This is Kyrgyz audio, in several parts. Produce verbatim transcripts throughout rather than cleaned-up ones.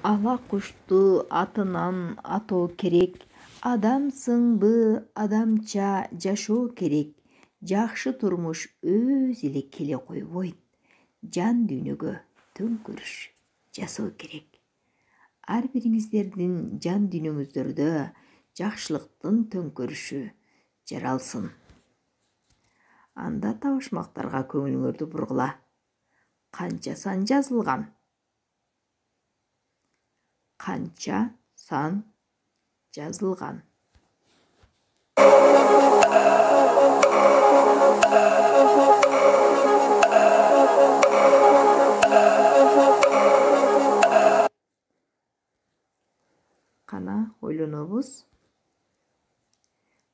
Ала кушту атынан атоо керек. Адамсыңбы, адамча жашоо керек. Жакшы турмуш өз эле келе койбойт. Жан дүйнөгө төңкөрүш жасоо керек. Ар бириңиздердин жан дүйнөңүздөрдө жакшылыктын төңкөрүшү жаралсын. Анда табышмактарга көңүлүңөрдү бургула. Канча сан жазылган? Канча сан жазылган? Кана ойлонобуз.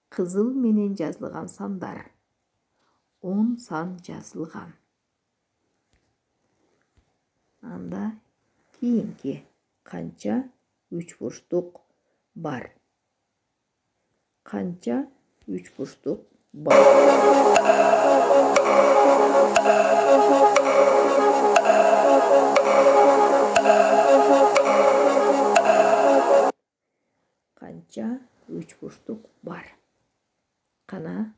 Кызыл менен жазылган сандар. он сан жазылган. Анда кийинки канча үч бурчтук бар? Канча үч бурчтук бар? Канча үч бурчтук бар? Кана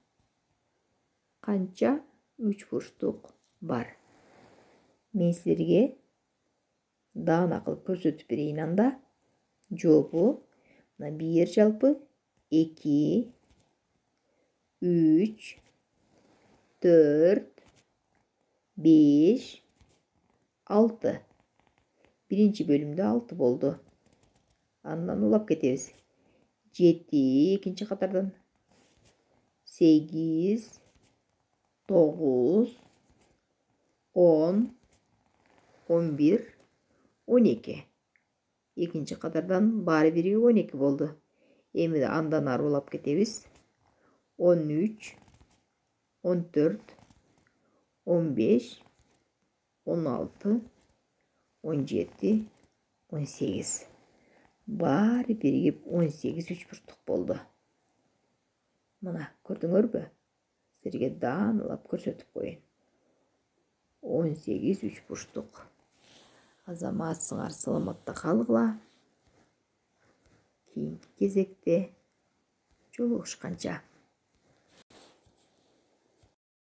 канча үч бурчтук бар? Мен силерге даана кылып көрсөтүп берейин анда. Жообу мына бир жалпы эки, үч, төрт, беш, алты. Биринчи бөлүмдө алты болду. Андан улап кетебиз. жети экинчи катардан. сегиз, тогуз, он, он бир, он эки. Экинчи катардан баары бири он эки болду. Эми андан ары улап кетебиз. он үч, он төрт, он беш, он алты, он жети, он сегиз. Баары биригип он сегиз үч бурчтук болду. Мына көрдүңөрбү? Силерге даанылап көрсөтүп коеюн. он сегиз үч бурчтук. Азаматсыңар, саламатта калгыла. Кийинки кезекте жолугушканча.